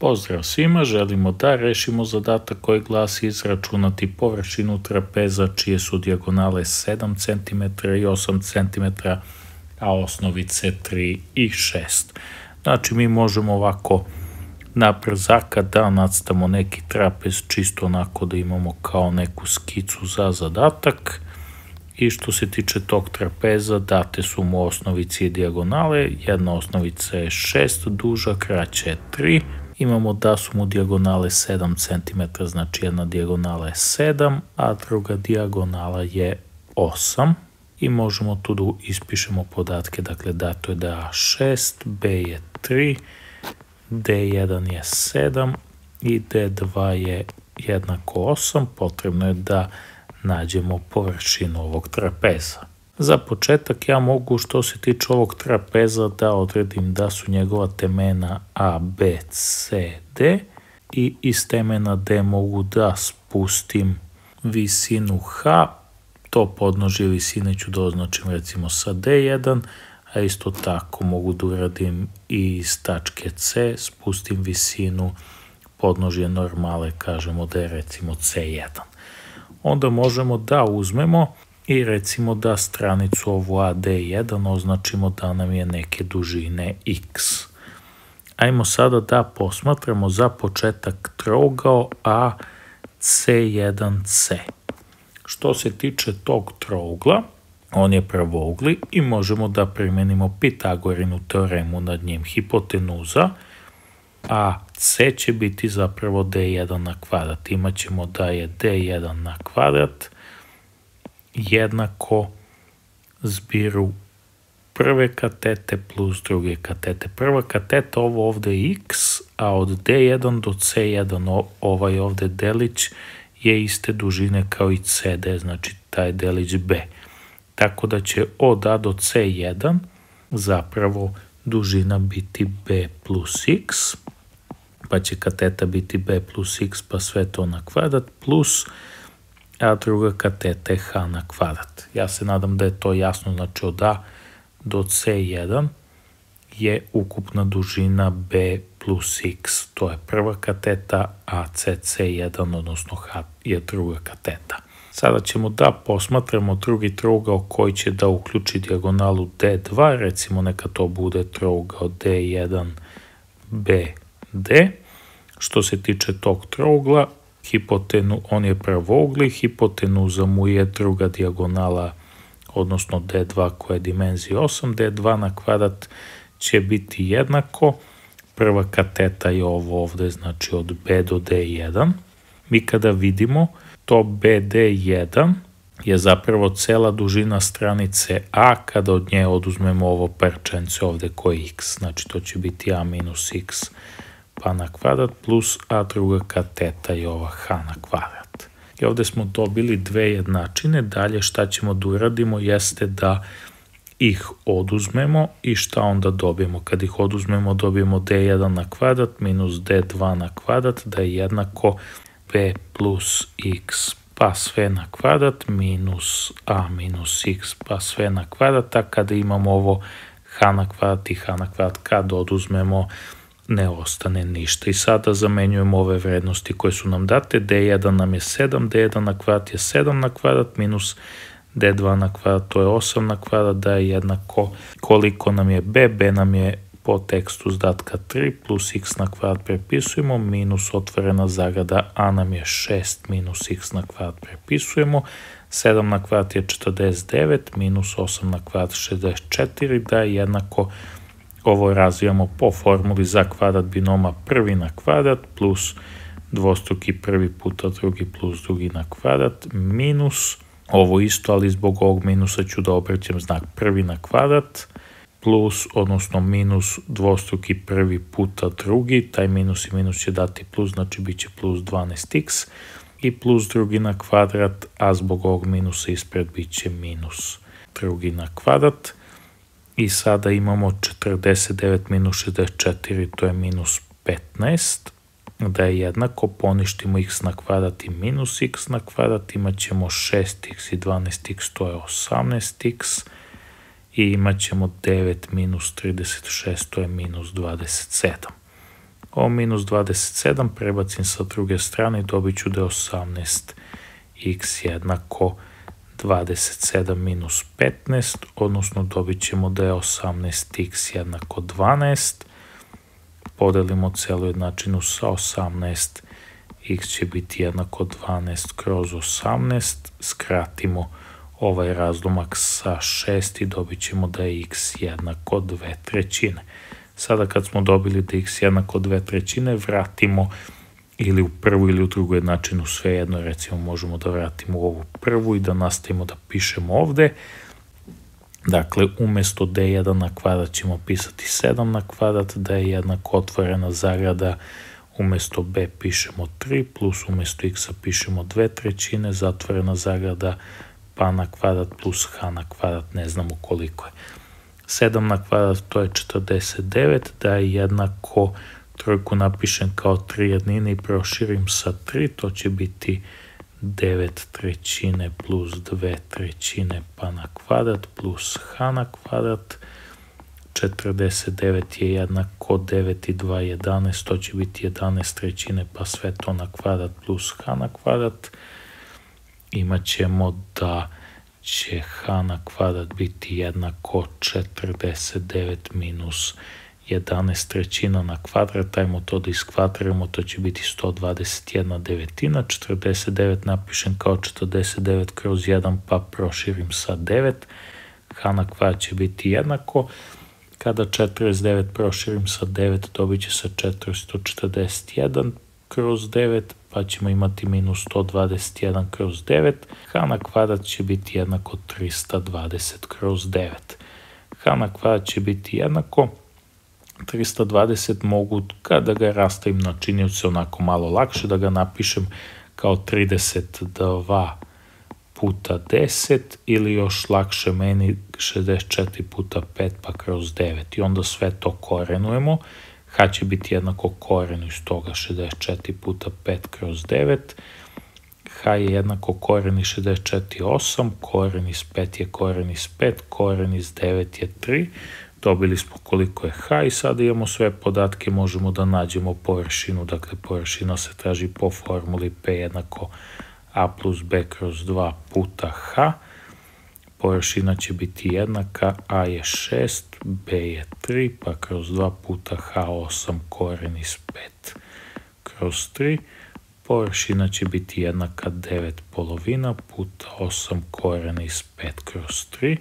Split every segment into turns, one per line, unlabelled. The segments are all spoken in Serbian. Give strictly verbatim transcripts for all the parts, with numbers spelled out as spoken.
Pozdrav svima, želimo da rešimo zadatak koji glasi izračunati površinu trapeza čije su dijagonale sedam centimetara i osam centimetara, a osnovice tri i šest. Znači mi možemo ovako na brzaka da nacrtamo neki trapez čisto onako da imamo kao neku skicu za zadatak. I što se tiče tog trapeza, date su mu osnovice i dijagonale, jedna osnovica je šest, duža, kraća je tri. Imamo da su mu dijagonale sedam centimetara, znači jedna dijagonala je sedam, a druga dijagonala je osam. I možemo tu da ispišemo podatke, dakle dato je da je A šest, B je tri, D jedan je sedam i D dva je jednako osam. Potrebno je da nađemo površinu ovog trapeza. Za početak ja mogu, što se tiče ovog trapeza, da odredim da su njegova temena A, B, C, D i iz temena D mogu da spustim visinu H. To podnožje visine ću da označim recimo sa D jedan, a isto tako mogu da uradim i iz tačke C, spustim visinu podnožje normale, kažemo da je recimo C jedan. Onda možemo da uzmemo i recimo da stranicu ovu A D jedan označimo da nam je neke dužine x. Ajmo sada da posmatramo za početak trougao A C jedan C. Što se tiče tog trougla, on je pravougli i možemo da primenimo Pitagorinu teoremu nad njim. Hipotenuza A C će biti zapravo D jedan na kvadrat. Imaćemo da je D jedan na kvadrat jednako zbiru prve katete plus druge katete. Prva kateta, ovo ovde je x, a od D jedan do C jedan ovaj ovde delić je iste dužine kao i C D, znači taj delić B. Tako da će od A do C jedan zapravo dužina biti B plus x, pa će kateta biti B plus x, pa sve to na kvadrat, plus a druga kateta je H na kvadrat. Ja se nadam da je to jasno, znači od A do C jedan je ukupna dužina B plus x, to je prva kateta, a C C jedan, odnosno H je druga kateta. Sada ćemo da posmatramo drugi trougao koji će da uključi dijagonalu D dva, recimo neka to bude trougao D jedan B D. Što se tiče tog trougla, hipotenu, on je pravougli, hipotenuza mu je druga dijagonala, odnosno D dva koja je dimenzija osam, D dva na kvadrat će biti jednako, prva kateta je ovo ovde, znači od B do D jedan. Mi kada vidimo, to B D jedan je zapravo cela dužina stranice A kada od nje oduzmemo ovo parčence ovde koje je x, znači to će biti A minus x pa na kvadrat plus a druga kateta je ova H na kvadrat. I ovde smo dobili dve jednačine, dalje šta ćemo da uradimo jeste da ih oduzmemo i šta onda dobijemo. Kad ih oduzmemo dobijemo D jedan na kvadrat minus D dva na kvadrat da je jednako B plus x pa sve na kvadrat minus a minus x pa sve na kvadrat, a kada imamo ovo H na kvadrat i H na kvadrat kad oduzmemo ne ostane ništa. I sada zamenjujemo ove vrednosti koje su nam date. D jedan nam je sedam, D jedan na kvadrat je sedam na kvadrat minus D dva na kvadrat, to je osam na kvadrat, da je jednako koliko nam je B, B nam je po tekstu zadatka tri plus x na kvadrat prepisujemo, minus otvorena zagrada, a nam je šest minus x na kvadrat prepisujemo, sedam na kvadrat je četrdeset devet, minus osam na kvadrat šezdeset četiri, da je jednako, ovo razvijamo po formuli za kvadrat binoma prvi na kvadrat plus dvostruki prvi puta drugi plus drugi na kvadrat minus, ovo isto, ali zbog ovog minusa ću da obraćam znak prvi na kvadrat, plus, odnosno minus dvostruki prvi puta drugi, taj minus i minus će dati plus, znači bit će plus dvanaest x, i plus drugi na kvadrat, a zbog ovog minusa ispred bit će minus drugi na kvadrat. I sada imamo četrdeset devet minus šezdeset četiri, to je minus petnaest, da je jednako, poništimo x na kvadrat i minus x na kvadrat, imat ćemo šest x i dvanaest x, to je osamnaest x, i imat ćemo devet minus trideset šest, to je minus dvadeset sedam. Ovo minus dvadeset sedam prebacim sa druge strane i dobit ću da je osamnaest x jednako dvadeset sedam minus petnaest, odnosno dobit ćemo da je osamnaest x jednako dvanaest. Podelimo celu jednačinu sa osamnaest, x će biti jednako dvanaest kroz osamnaest, skratimo ovaj razlomak sa šest i dobit ćemo da je x jednako dve trećine. Sada kad smo dobili da je x jednako dve trećine, vratimo ili u prvu ili u drugu jednačinu, svejedno, recimo možemo da vratimo u ovu prvu i da nastavimo da pišemo ovde. Dakle, umesto d jedan na kvadrat ćemo pisati sedam na kvadrat, da je jednako otvorena zagrada, umesto b pišemo tri, plus umesto x-a pišemo dve trećine, zatvorena zagrada, pa na kvadrat plus h na kvadrat, ne znamo koliko je. sedam na kvadrat to je četrdeset devet, da je jednako, trojku napišem kao tri jednine i proširim sa tri, to će biti devet trećine plus dve trećine pa na kvadrat plus h na kvadrat. četrdeset devet je jednako devet i dva jedanaest, to će biti jedanaest trećine pa sve to na kvadrat plus h na kvadrat. Imat ćemo da će h na kvadrat biti jednako četrdeset devet minus jedanaest trećina na kvadrat, ajmo to da iskvadriramo, to će biti sto dvadeset jedna devetina, četrdeset devet napišem kao četrdeset devet kroz jedan pa proširim sa devet, h na kvadrat će biti jednako, kada četrdeset devet proširim sa devet dobit će se četiristo četrdeset jedan kroz devet, pa ćemo imati minus sto dvadeset jedan kroz devet, h na kvadrat će biti jednako trista dvadeset kroz devet. H na kvadrat će biti jednako trista dvadeset, mogu kada ga rastavim na činioce onako malo lakše, da ga napišem kao trideset dva puta deset ili još lakše meni šezdeset četiri puta pet pa kroz devet i onda sve to korenujemo. H će biti jednako korenu iz toga šezdeset četiri puta pet kroz devet. H je jednako koren iz šezdeset četiri osam, koren iz pet je koren iz pet, koren iz devet je tri. Dobili smo koliko je h i sada imamo sve podatke, možemo da nađemo površinu, dakle površina se traži po formuli p jednako a plus b kroz dva puta h. Površina će biti jednaka, a je šest, b je tri, pa kroz dva puta h osam koren iz pet kroz tri. Površina će biti jednaka devet polovina puta osam koren iz pet kroz tri.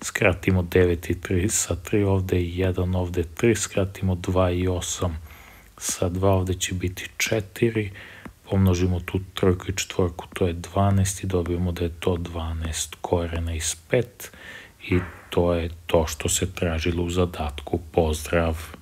Skratimo devet i tri sa tri, ovde i jedan, ovde tri, skratimo dva i osam sa dva, ovde će biti četiri. Pomnožimo tu trojku i četvorku, to je dvanaest i dobijemo da je to dvanaest korena iz pet i to je to što se tražilo u zadatku. Pozdrav!